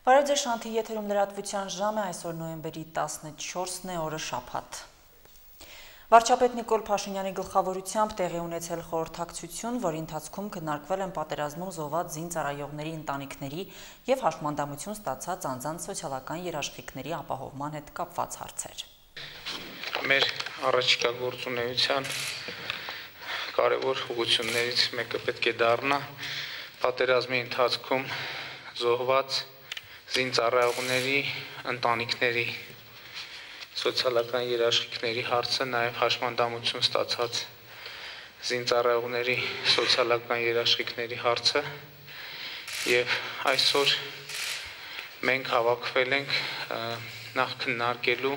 Բարև ձեզ, Շանթի եթերում լրատվության ժամ է, այսօր նոյեմբերի 14-ն է, օրը շաբաթ։ Վարչապետ Նիկոլ Փաշինյանի գլխավորությամբ տեղի ունեցել խորհրդակցություն, որի ընթացքում քննարկվել են պատերազմում զոհված զինծառայողների ընտանիքների և հաշմանդամություն ստացած անձանց սոցիալական երաշխիքների ապահովման հետ կապված հարցեր։ Մեր առաջիկա գործունեության կարևոր ուղղություններից մեկը պետք է դառնա պատերազմի ընթացքում զոհված զինծառայողների ընտանիքների սոցիալական երաշխիքների հարցը, նաև հաշմանդամություն ստացած զինծառայողների սոցիալական երաշխիքների հարցը, եւ այսօր մենք հավաքվել ենք նախ քննարկելու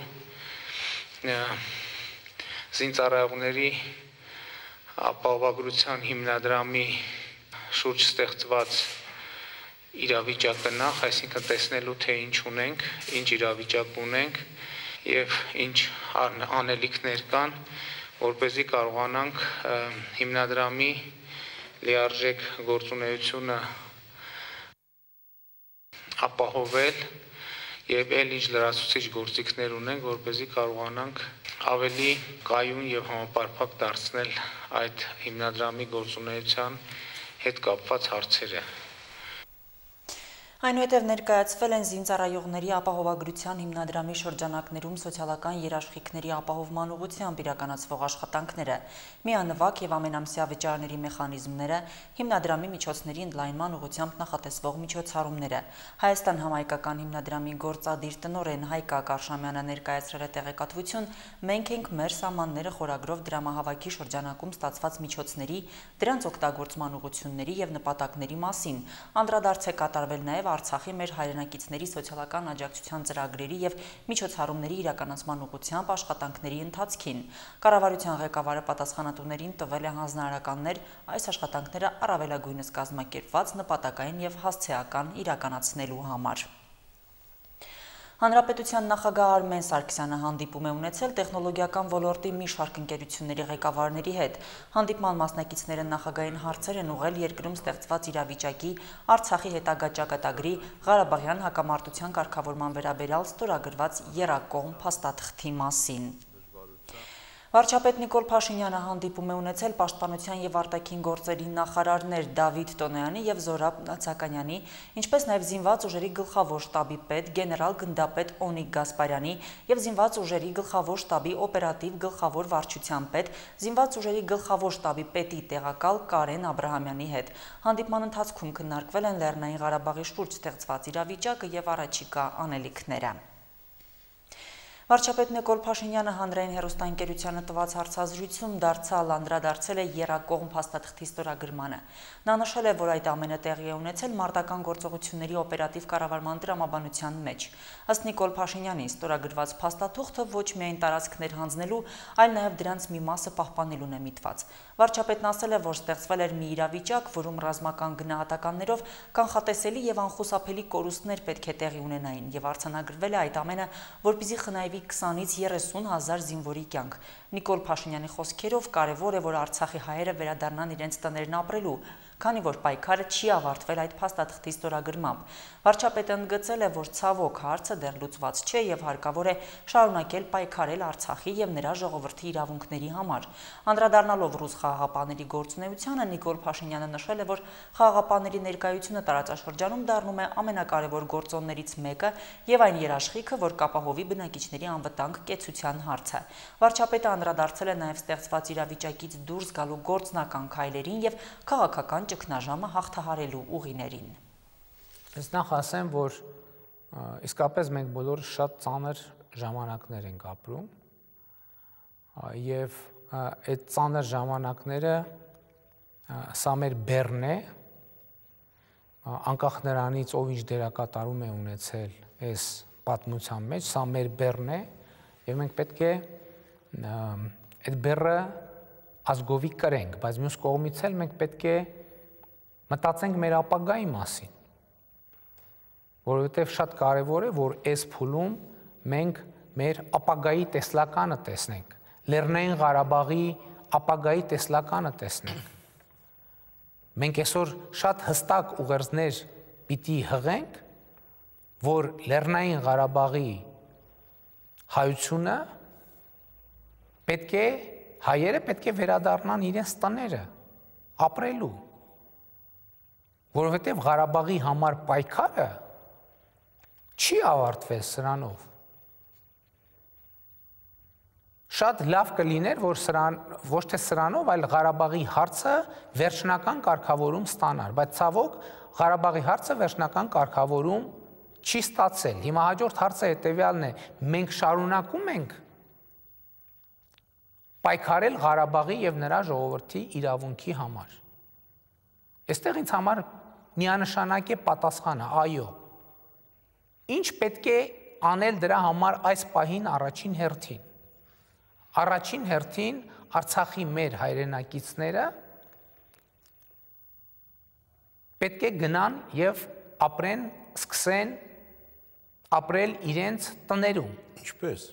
զինծառայողների ապահովագրության հիմնադրամի շուրջ ստեղծված իրավիճակը նախ, այսինքն տեսնելու թե ինչ ունենք, ինչ իրավիճակ ունենք եւ ինչ անելիքներ կան, որպեսզի կարողանանք հիմնադրամի լիարժեք գործունեությունը ապահովել եւ այլ ինչ լրացուցիչ գործիքներ ունենք, որպեսզի կարողանանք ավելի կայուն եւ համապարփակ դարձնել այդ հիմնադրամի գործունեության հետ կապված հարցերը։ Այնուհետև ներկայացվել են զինծառայողների ապահովագրության հիմնադրամի շրջանակներում սոցիալական երաշխիքների ապահովման ուղղությամբ իրականացվող աշխատանքները, միանվագ եւ ամենամսյա վճարների մեխանիզմները, հիմնադրամի միջոցների ընդլայնման ուղղությամբ նախատեսվող միջոցառումները։ Հայաստան համայնքական հիմնադրամի գործադիր տնօրեն Հայկ Կարշամյանը ներկայացրել է տեղեկատվություն «Մենք ենք մեր սահմանները» խորագրով դրամահավաքի շրջանակում ստացված միջոցների, դրանց օգտագործման ուղղությունների եւ նպատակների մասին։ Անդրադարձ է կատարվել նաեւ Արցախի մեր հայրենակիցների սոցիալական աջակցության ծրագրերի եւ միջոցառումների իրականացման ուղղությամբ աշխատանքների ընթացքին։ Կառավարության ղեկավարը պատասխանատուներին տվել է հանձնարարականներ այս աշխատանքները առավելագույնս կազմակերպված, նպատակային եւ հասցեական իրականացնելու համար։ Հանրապետության նախագահ Արմեն Սարգսյանը հանդիպում է ունեցել տեխնոլոգիական ոլորտի մի շարք ընկերությունների ղեկավարների հետ։ Հանդիպման մասնակիցները նախագահային հարցեր են ուղղել երկրում ստեղծված իրավիճակի, Արցախի հետագա ճակատագրի, Ղարաբաղյան հակամարտության կարգավորման վերաբերյալ ստորագրված եռակողմ փաստաթղթի մասին։ Վարչապետ Նիկոլ Փաշինյանը հանդիպում է ունեցել պաշտպանության եւ արտաքին գործերի նախարարներ Դավիթ Տոնոյանի եւ Զորաբ Նացականյանի, ինչպես նաեւ զինված ուժերի գլխավոր շտաբի պետ գեներալ գնդապետ Օնիկ Գասպարյանի եւ զինված ուժերի գլխավոր շտաբի օպերատիվ գլխավոր վարչության պետ, զինված ուժերի գլխավոր շտաբի պետի տեղակալ Կարեն Աբրահամյանի հետ։ Հանդիպման ընթացքում քննարկվել են Լեռնային Ղարաբաղի շուրջ ստեղծված իրավիճակը եւ առաջիկա անելիքները։ Վարչապետ Նիկոլ Փաշինյանը հանրային հեռուստաընկերությանը տված հարցազրույցում անդրադարձել է եռակողմ փաստաթղթի ստորագրմանը։ Նա նշել է, որ այդ ամենը տեղի է ունեցել մարտական գործողությունների օպերատիվ կառավարման տրամաբանության մեջ։ Ըստ Նիկոլ Փաշինյանի, ստորագրված փաստաթուղթը ոչ միայն տարածքներ հանձնելու, այլ նաեւ դրանց մի մասը պահպանելուն է միտված։ Վարչապետն ասել է, որ ստեղծվել էր մի իրավիճակ, որում ռազմական գնահատականներով կանխատեսելի եւ անխուսափելի կորուստներ պետք է տեղի ունենային եւ արձանագրվել է այդ ամենը, որպեսզի խնայվի 20-ից 30 հազար զինվորի կյանք։ Նիկոլ Փաշինյանի խոսքերով կարևոր է, որ Արցախի հայերը վերադառնան իրենց տներն ապրելու, քանի որ պայքարը չի ավարտվել այդ փաստաթղթի ստորագրմամբ։ Վարչապետը ընդգծել է, որ ցավոք հարցը դեռ լուծված չէ եւ հարկավոր է շարունակել պայքարել Արցախի եւ նրա ժողովրդի իրավունքների համար։ Անդրադառնալով ռուս խաղաղապահների գործունեությանը, Նիկոլ Փաշինյանը նշել է, որ խաղաղապահների ներկայությունը տարածաշրջանում դառնում է ամենակարևոր գործոններից մեկը եւ այն երաշխիքը, որ կապահովի բնակիչների անվտանգ կեցության հարցը։ Վարչապետը անդրադարձել է նաեւ ստեղծված իրավիճակից դուրս գալու գործնական քայլերին եւ քաղաքական ճգնաժամը հաղթահարելու ուղիներին։ Ես նախ ասեմ, որ իսկապես մենք բոլորը շատ ծանր ժամանակներ ենք ապրում եւ այդ ծանր ժամանակները սա մեր բեռն է, անկախ նրանից ով ինչ դերակատարում է ունեցել այս պատմության մեջ, սա մեր բեռն է եւ մենք պետք է այդ բեռը ազգովի կրենք, բայց մյուս կողմից էլ մենք պետք է մտածենք մեր ապագայի մասին, որովհետև շատ կարևոր է, որ այս փուլում մենք մեր ապագայի տեսլականը տեսնենք, Լեռնային Ղարաբաղի ապագայի տեսլականը տեսնենք։ Մենք այսօր շատ հստակ ուղերձներ պիտի հղենք, որ Լեռնային Ղարաբաղի հայությունը հայերը պետք է վերադառնան իրենց տները ապրելու, որովհետև Ղարաբաղի համար պայքարը չի ավարտվել սրանով։ Շատ լավ կլիներ, որ ոչ թե սրանով, այլ Ղարաբաղի հարցը վերջնական կարգավորում ստանար, բայց ցավոք Ղարաբաղի հարցը վերջնական կարգավորում չի ստացել։ Հիմա հաջորդ հարցը հետևյալն է. մենք շարունակում ենք պայքարել Ղարաբաղի եւ նրա ժողովրդի իրավունքի համար։ Այստեղ ինձ համար միանշանակ է պատասխանը՝ այո։ Ինչ պետք է անել դրա համար այս պահին առաջին հերթին։ Առաջին հերթին Արցախի մեր հայրենակիցները պետք է գնան եւ ապրեն, սկսեն ապրել իրենց տներում։ Ինչպես։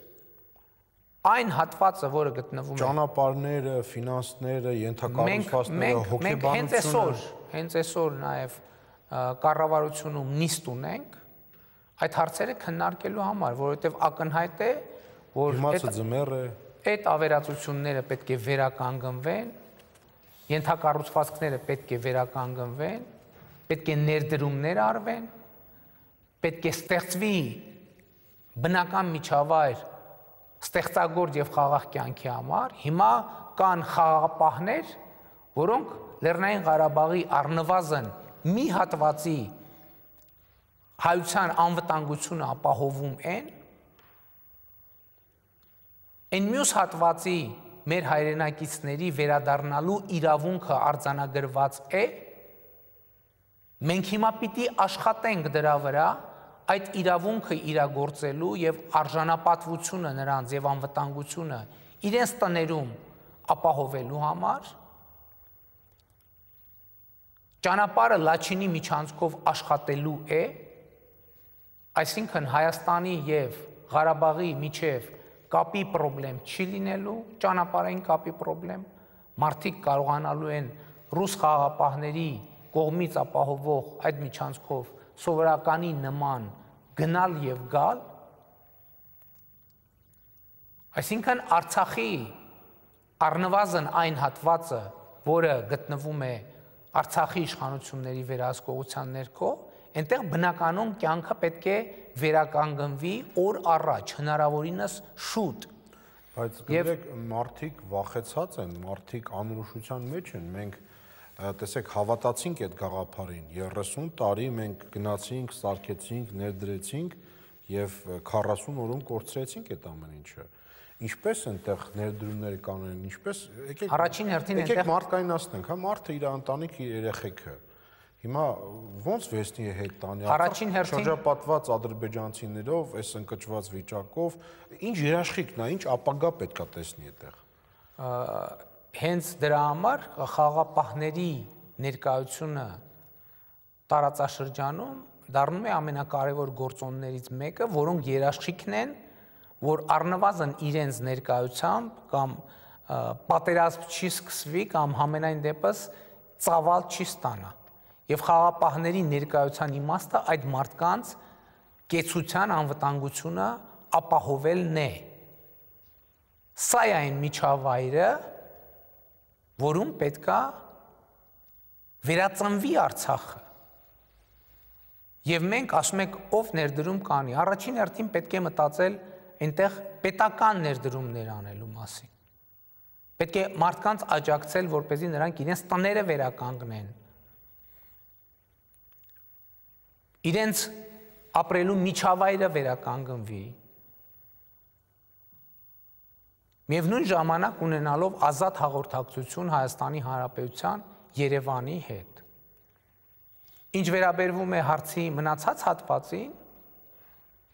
Այն հատվածը, որը գտնվում է ճանապարհները, ֆինանսները, ենթակառուցվածքները, հոգեբանությունը, հենց այսօր նաեւ կառավարությունում նիստ ունենք այդ հարցերը քննարկելու համար, որովհետեւ ակնհայտ է, որ իմացը ձմեռ է, այդ ավերածությունները պետք է վերականգնվեն, ենթակառուցվածքները պետք է վերականգնվեն, պետք է ներդրումներ արվեն, պետք է ստեղծվի բնական միջավայր ստեղծագործ եւ խաղաղ կյանքի համար։ Հիմա կան խաղաղապահներ, որոնք Լեռնային Ղարաբաղի առնվազն մի հատվածի հայության անվտանգությունը ապահովում են, այն մյուս հատվածի մեր հայրենակիցների վերադառնալու իրավունքը արձանագրված է, մենք հիմա պիտի աշխատենք դրա վրա, այդ իրավունքը իրագործելու եւ արժանապատվությունը նրանց եւ անվտանգությունը իրենց տներում ապահովելու համար, ճանապարհը Լաչինի միջանցքով աշխատելու է, այսինքն Հայաստանի եւ Ղարաբաղի միջև կապի պրոբլեմ չի լինելու, ճանապարհային կապի պրոբլեմ, մարդիկ կարողանալու են ռուս խաղաղապահների կողմից ապահովող այդ միջանցքով սովորականի նման գնալ եւ գալ, այսինքն Արցախի առնվազն այն հատվածը, որը գտնվում է Արցախի իշխանությունների վերահսկողության ներքո, այնտեղ բնականում կյանքը պետք է վերականգնվի օր առաջ, հնարավորինս շուտ։ Բայց գիտեք, մարդիկ վախեցած են, մարդիկ անորոշության մեջ են, մենք տեսեք հավատացինք այդ գաղափարին, 30 տարի մենք գնացինք, սարքեցինք, ներդրեցինք եւ 40 օրում կորցրեցինք այդ ամեն ինչը։ Ինչպես այնտեղ ներդրումներ կանեն, ինչպես առաջին հերթին եկեք մարդկայնացնենք, հա, մարդը իր ընտանիք, իր երեխեքը։ Հիմա ոնց վեսնի է հետ տանի, առաջին հերթին շրջապատված ադրբեջանցիներով, այս ընկճված վիճակով, ինչ երաշխիքն է, ինչ ապագա պետքա տեսնի այդտեղ։ Հենց դրա համար խաղաղապահների ներկայությունը տարածաշրջանում դառնում է ամենակարևոր գործոններից մեկը, որոնք երաշխիքն են, որ առնվազն իրենց ներկայությամբ կամ պատերազմ չի սկսվի կամ համենայն դեպս ծավալ չի ստանա։ Եվ խաղաղապահների ներկայության իմաստը այդ մարդկանց կեցության անվտանգությունը ապահովելն է։ Սա է այն միջավայրը, որում պետքա վերածնվի Արցախը։ Եվ մենք ասում ենք, ով ներդրում կանի, առաջին հերթին պետք է մտածել այնտեղ պետական ներդրումներ անելու մասին։ Պետք է մարդկանց աջակցել, որպեսզի նրանք իրենց տները վերականգնեն։ Իրենց ապրելու միջավայրը վերականգնվի։ Միևնույն ժամանակ ունենալով ազատ հաղորդակցություն Հայաստանի Հանրապետության Երևանի հետ։ Ինչ վերաբերվում է հարցի մնացած հատվածին,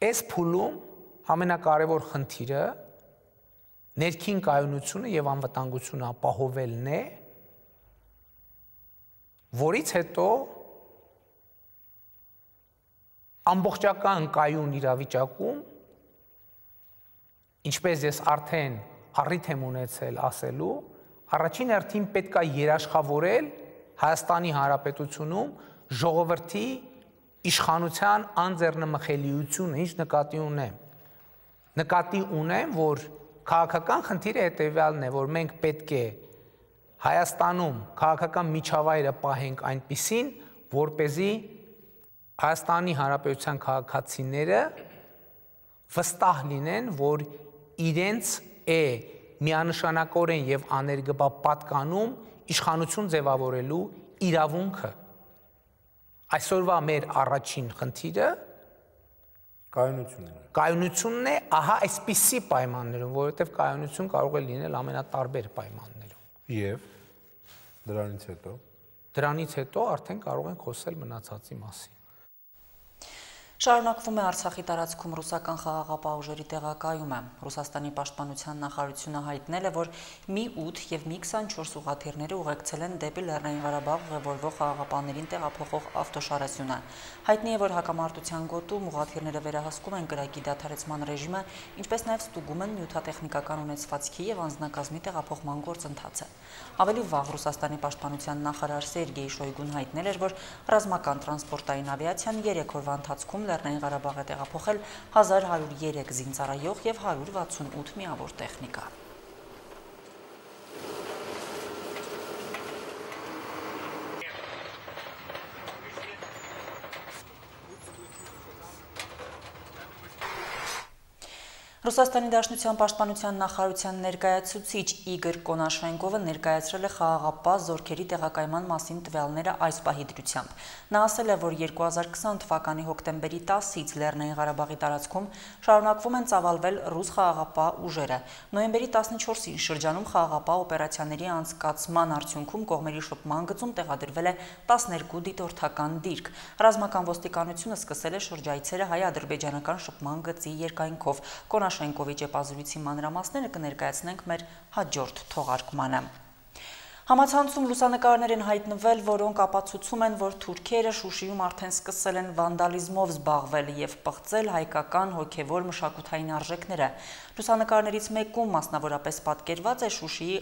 այս փուլում ամենակարևոր խնդիրը ներքին կայունությունը եւ անվտանգությունը ապահովելն է, որից հետո ամբողջական կայուն իրավիճակում, ինչպես ես արդեն առիթ եմ ունեցել ասելու, առաջին հերթին պետք է երաշխավորել Հայաստանի Հանրապետությունում ժողովրդի իշխանության անձեռնմխելիությունը, ինչ նկատի ունեմ։ Նկատի ունեմ, որ քաղաքական խնդիրը հետևյալն է, որ մենք պետք է Հայաստանում քաղաքական միջավայրը պահենք այնպիսին, որպեսզի Հայաստանի Հանրապետության քաղաքացիները վստահ լինեն, որ իրենց է միանշանակորեն եւ աներկբա պատկանում իշխանություն ձևավորելու իրավունքը։ Այսօրվա մեր առաջին խնդիրը կայունությունն է, ահա այսպիսի պայմաններում, որովհետեւ կայունություն կարող է լինել ամենատարբեր պայմաններում։ Եվ դրանից հետո արդեն կարող ենք խոսել մնացածի մասին։ Շարունակվում է Արցախի տարածքում ռուսական խաղաղապահ ուժերի տեղակայումը։ Ռուսաստանի պաշտպանության նախարարությունը հայտնել է, որ Mi-8 եւ Mi-24 ուղղաթիռները ուղեկցել են դեպի Լեռնային Ղարաբաղ ուղևորվող խաղաղապահներին տեղափոխող ավտոշարասյունը։ Հայտնի է, որ հակամարտության գոտում ուղղաթիռները վերահսկում են կրակի դադարեցման ռեժիմը, ինչպես նաեւ ստուգում են նյութատեխնիկական ունեցվածքի եւ անձնակազմի տեղափոխման գործընթացը։ Ավելի վաղ Ռուսաստանի պաշտպանության նախարար Սերգեյ Շոյգուն հայտնել էր, որ ռազմական տրանսպորտային ավիացիան 3 օրվա ընթացքում Լեռնային Ղարաբաղ է տեղափոխել 1103 զինծառայող եւ 168 միավոր տեխնիկա։ Ռուսաստանի Դաշնության պաշտպանության նախարարության ներկայացուցիչ Իգոր Կոնաշենկովը ներկայացրել է խաղաղապահ զորքերի տեղակայման մասին տվյալները այս պահի դրությամբ։ Նա ասել է, որ 2020 թվականի հոկտեմբերի 10-ից Լեռնային Ղարաբաղի տարածքում շարունակվում են ծավալվել ռուս խաղաղապահ ուժերը։ Նոյեմբերի 14-ին շրջանում խաղաղապահ օպերացիաների անցկացման արդյունքում կողմերի շփման գծում տեղադրվել է 12 դիտորդական դիրք։ Ռազմական ոստիկանությունը սկսել է շրջայցերը հայ-ադրբեջանական շփման գծի երկայնքով։ Կոնաշենկովի ճեպազրույցի մանրամասները կներկայացնենք մեր հաջորդ թողարկմանը։ Համացանցում լուսանկարներ են հայտնվել, որոնք ապացուցում են, որ թուրքերը Շուշիում արդեն սկսել են վանդալիզմով զբաղվել եւ պղծել հայկական հոգեվոր մշակութային արժեքները։ Լուսանկարներից մեկում մասնավորապես պատկերված է Շուշիի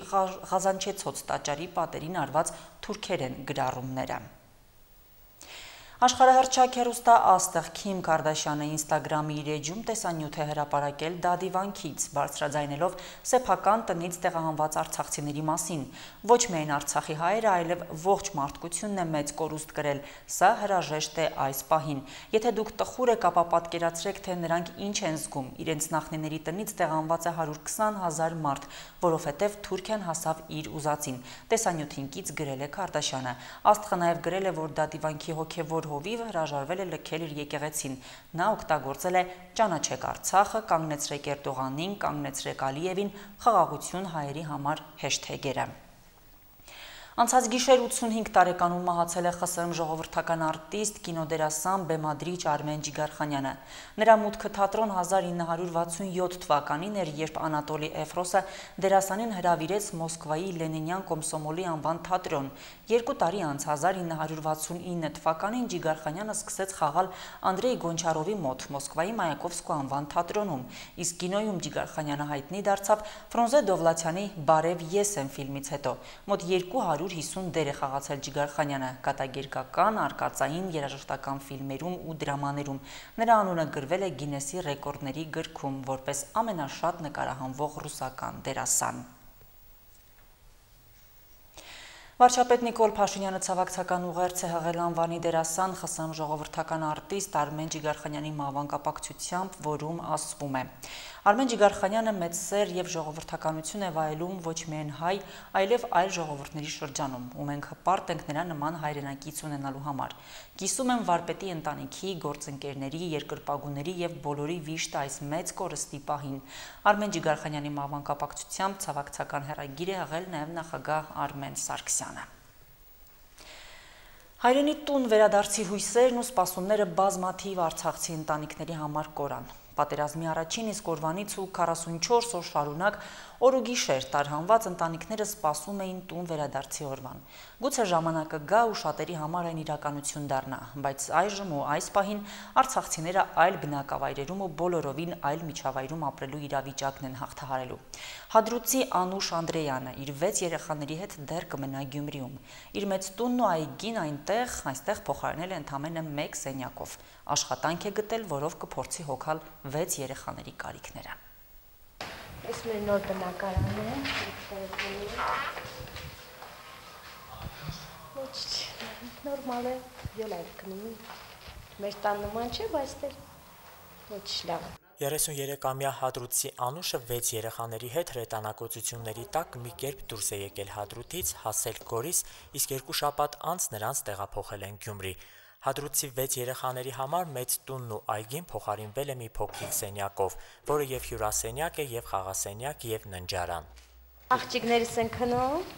Ղազանչեցոց տաճարի պատերին արված թուրքերեն գրառումները։ Աշխարհահռչակ հեռուստա աստղ Քիմ Կարդաշյանը Instagram-ի իր էջում տեսանյութ է հրապարակել Դադիվանքից, բարձրաձայնելով սեփական տնից տեղահանված արցախցիների մասին։ Ոչ միայն Արցախի հայերը, այլև ողջ մարդկությունն է մեծ կորուստ կրել։ Սա հրաժեշտ է այս պահին։ Եթե դուք տխուր եք, ապա պատկերացրեք, թե նրանք ինչ են զգում։ Իրենց նախնիների տնից տեղահանված է 120,000 մարդ, որովհետև Թուրքիան հասավ իր ուզածին։ Տեսանյութին կից գրել է Կարդաշյանը։ Աստղը նաև գրել է, որ Դադիվանքի հոգևոր հովիվը հրաժարվել է լքել իր եկեղեցին։ Նա օգտագործել է «Ճանաչեք Արցախը», «Կանգնեցրեք Էրդողանին», «Կանգնեցրեք Ալիևին», «Խաղաղություն հայերի համար» հեշթեգերը։ Անցած գիշեր 85 տարեկանում մահացել է ԽՍՀՄ ժողովրդական արտիստ, կինոդերասան, բեմադրիչ Արմեն Ջիգարխանյանը։ Նրա մուտքը թատրոն 1967 թվականին էր, երբ Անատոլի Էֆրոսը դերասանին հրավիրեց Մոսկվայի Լենինյան Կոմսոմոլի անվան թատրոն։ 2 տարի անց 1969 թվականին Ջիգարխանյանը սկսեց խաղալ Անդրեյ Գոնչարովի մոտ Մոսկվայի Մայակովսկու անվան թատրոնում, իսկ կինոյում Ջիգարխանյանը հայտնի դարձավ Ֆրունզե Դովլաթյանի «Բարև ես եմ» ֆիլմից հետո։ Մոտ 250 դեր է խաղացել Ջիգարխանյանը կատակերգական, արկածային, երաժշտական ֆիլմերում ու դրամաներում։ Նրա անունը գրվել է Գինեսի ռեկորդների գրքում որպես ամենաշատ նկարահանվող ռուսական դերասան։ Վարչապետ Նիկոլ Փաշինյանը ցավակցական ուղերձ է հղել անվանի դերասան ԽՍՀՄ ժողովրդական արտիստ Արմեն Ջիգարխանյանի մահվան կապակցությամբ, որում ասվում է. Արմեն Ջիգարխանյանը մեծ սեր եւ ժողովրդականություն է վայելում ոչ միայն հայ, այլև այլ ժողովուրդների շրջանում, ու մենք հպարտ ենք նրա նման հայրենակից ունենալու համար։ Կիսում եմ վարպետի ընտանիքի, գործընկերների, երկրպագուների եւ բոլորի վիշտը այս մեծ կորստի պահին։ Արմեն Ջիգարխանյանի մահվան կապակցությամբ ցավակցական հեռագիր է հղել նաեւ նախագահ Արմեն Սարգսյանը։ Հայրենի տուն վերադարձի հույսերն ու սպասումները բազմաթիվ արցախցի ընտանիքների համար կորան։ Պատերազմի առաջին իսկ օրվանից ու 44 օր շարունակ օր ու գիշեր տարհանված ընտանիքները սպասում էին տուն վերադարձի օրվան։ Գուցե ժամանակը գա ու շատերի համար այն իրականություն դառնա, բայց այժմ ու այս պահին արցախցիները այլ բնակավայրերում ու բոլորովին այլ միջավայրում ապրելու իրավիճակն են հաղթահարելու։ Հադրութի Անուշ Անդրեյանը իր 6 երեխաների հետ դեռ կմնա Գյումրիում։ Իր մեծ տունն ու այգին այստեղ փոխարինել է ընդամենը 1 սենյակով։ Աշխատանք է գտել, որով կփորձի հոգալ 6 երեխաների կարիքները։ Այս մեր նոր բնակարանն է։ Ոչ, նորմալ է, յոլայր կնի։ Մեր տան նման չէ, բայց ոչ լավ։ 33-ամյա Հադրութի Անուշը 6 երեխաների հետ հրետանակոծությունների տակ մի կերպ դուրս է եկել Հադրութից, հասել Գորիս, իսկ 2 շաբաթ անց նրանց տեղափոխել են Գյումրի։ Հադրութի 6 երեխաների համար մեծ տունն ու այգին փոխարինվել է մի փոքրիկ սենյակով, որը եւ հյուրասենյակ է, եւ խաղասենյակ, եւ ննջարան։ Աղջիկներս են քնում,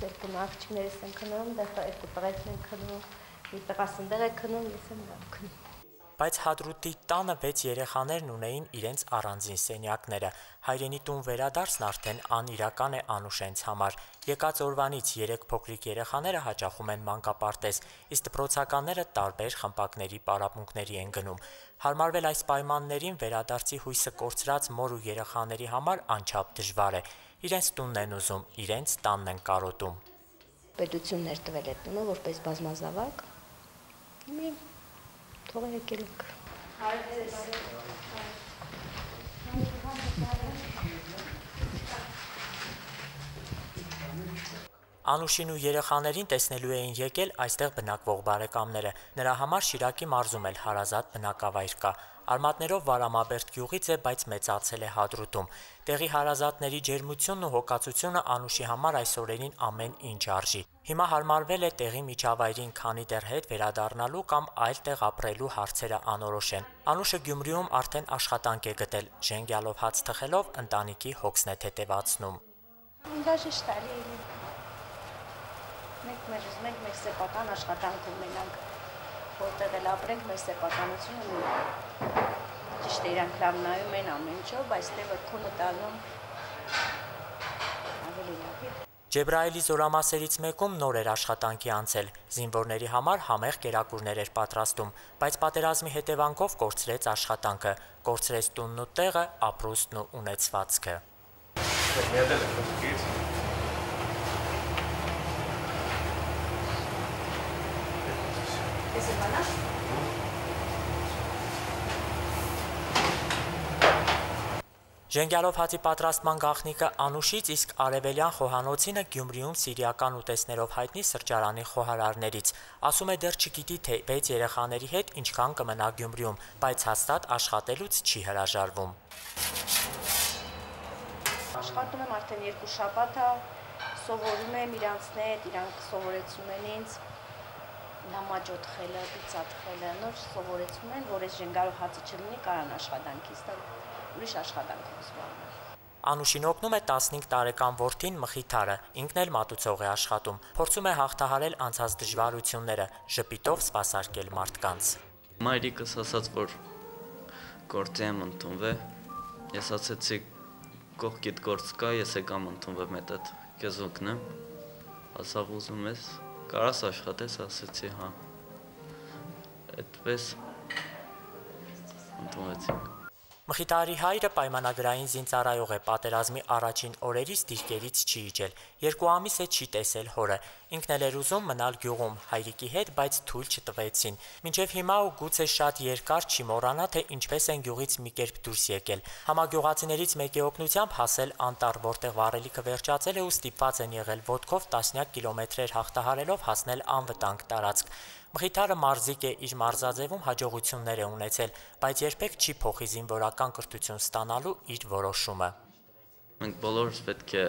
սերկուն աղջիկներս են քնում, դեռ 2 տղերքն են քնում, մի տղաս ընդեղ է քնում, ես եմ լավ քնում։ Բայց Հադրութի տանը 6 երեխաներն ունեին իրենց առանձին սենյակները։ Հայրենի տուն վերադարձն արդեն անիրական է Անուշենց համար։ Եկած օրվանից 3 փոքրիկ երեխաները հաճախում են մանկապարտեզ, իսկ դպրոցականները տարբեր խմբակների պարապմունքների են գնում։ Հարմարվել այս պայմաններին վերադարձի հույսը կորցրած մոր ու երեխաների համար անչափ դժվար է։ Իրենց տունն են ուզում, իրենց տանն են կարոտում։ Պետություններ տվել է տունը որպես բազմազավակ։ Թողը եկել եք։ Անուշին ու երեխաներին տեսնելու էին եկել այստեղ բնակվող բարեկամները։ Նրա համար Շիրակի մարզում էլ հարազատ բնակավայր կա։ Արմատներով Վարամաբերդ գյուղից է, բայց մեծացել է Հադրութում։ Տեղի հարազատների ջերմությունն ու հոգացությունը Անուշի համար այս օրերին ամեն ինչ արժի։ Հիմա հարմարվել է տեղի միջավայրին, քանի դեռ հետ վերադառնալու կամ այլ տեղ ապրելու հարցերը անորոշ են։ Անուշը Գյումրիում արդեն աշխատանք է գտել, ժենգյալով հաց թխելով ընտանիքի հոգսն է թեթևացնում։ Անհրաժեշտ է։ Մենք մեր սեփական աշխատանքում մենանք որտեղ էլ ապրենք, մեր սեփականությունը ճիշտ է, իրանք լավ նայում են ամեն ինչով, բայց դե որ քոնը տալնում ավելի լավ է։ Ջեբրայելի զորամասերից մեկում նոր էր աշխատանքի անցել, զինվորների համար համեղ կերակուրներ էր պատրաստում, բայց պատերազմի հետևանքով կորցրեց աշխատանքը, կորցրեց տունն ու տեղը, ապրուստն ու ունեցվածքը։ Ժենգյալով հացի պատրաստման գաղտնիքը Անուշից, իսկ արևելյան խոհանոցինը Գյումրիում սիրիական ուտեստներով հայտնի սրճարանի խոհարարներից։ Ասում է դեռ չգիտի, թե 6 երեխաների հետ ինչքան կմնա Գյումրիում, բայց հաստատ աշխատելուց չի հրաժարվում։ Աշխատում եմ արդեն 2 շաբաթ է, սովորում եմ իրանցն հետ, իրանք սովորեցում են ինձ նամաճոտ խելը, պիցա խելը, նոր սովորեցում են, որ այս ժենգյալով հացը չլինի, կարան աշխատանքից տալ, ուրիշ աշխատանքով զբաղվել։ Անուշին օգնում է 15 տարեկան որդին Մխիթարը, ինքն էլ մատուցող է աշխատում, փորձում է հաղթահարել անցած դժվարությունները, ժպիտով սպասարկել մարդկանց։ Մայրիկս ասաց, որ գործի եմ ընդունվել, ես ասացի կողքիդ գործ կա, ես եկամ ընդունվել մեծ այդ քեզ օգնեմ, ասավ ուզում ես, կարաս աշխատես, ասացի հա, այդպես ընդունվեցինք։ Մխիթարի հայրը պայմանագրային զինծառայող է, պատերազմի առաջին օրերից դիրքերից չի իջել, 2 ամիս է չի տեսել հորը, ինքն էլ էր ուզում մնալ գյուղում հայրիկի հետ, բայց թույլ չտվեցին, մինչև հիմա ու գուցե շատ երկար չի մոռանա, թե ինչպես են գյուղից մի կերպ դուրս եկել, համագյուղացիներից մեկի օգնությամբ հասել Անտառ, որտեղ վառելիքը վերջացել է ու ստիպված են եղել ոտքով տասնյակ կիլոմետրեր հաղթահարելով հասնել անվտանգ տարածք։ Մխիթարը մարզիկ է, իր մարզաձևում հաջողություններ է ունեցել, բայց երբեք չի փոխի զինվորական կրթություն ստանալու իր որոշումը։ Մենք բոլորս պետք է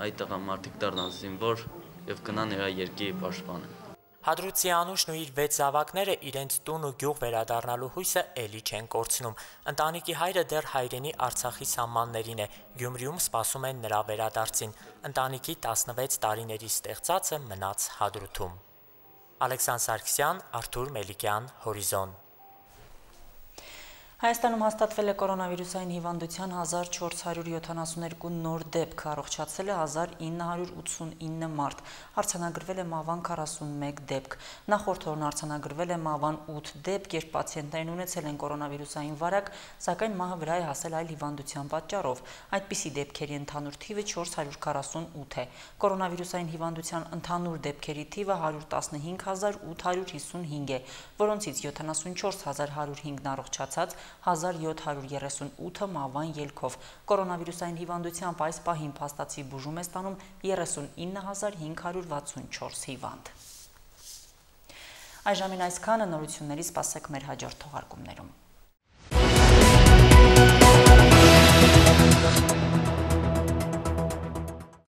այդ տղամարդիկ դառնան զինվոր եւ գնան նրա երկիրը պաշտպանեն։ Հադրութի Անուշն ու իր 6 զավակները իրենց տուն ու գյուղ վերադառնալու հույսը էլի չեն կորցնում։ Ընտանիքի հայրը դեռ հայրենի Արցախի սահմաններին է, Գյումրիում սպասում են նրա վերադարձին։ Ընտանիքի 16 տարիների ստեղծածը մնաց Հադրութում։ Ալեքսանդր Սարգսյան, Արթուր Մելիքյան, Հորիզոն։ Հայաստանում հաստատվել է կորոնավիրուսային հիվանդության 1472 նոր դեպք, առողջացել է 1989 մարդ, արձանագրվել է մահվան 41 դեպք։ Նախորդ օրն արձանագրվել է մահվան 8 դեպք, երբ պացիենտներն ունեցել են կորոնավիրուսային վարակ, սակայն մահը վրա է հասել այլ հիվանդության պատճառով։ Այդպիսի դեպքերի ընդհանուր թիվը 448 է։ Կորոնավիրուսային հիվանդության ընդհանուր դեպքերի թիվը 115855 է, որոնցից 74105-ն առողջացած, 1738-ը մահվան ելքով։ Կորոնավիրուսային հիվանդությամբ այս պահին փաստացի բուժում է ստանում 39564 հիվանդ։ Այժմին այսքանը, նորությունների սպասեք մեր հաջորդ թողարկումներում։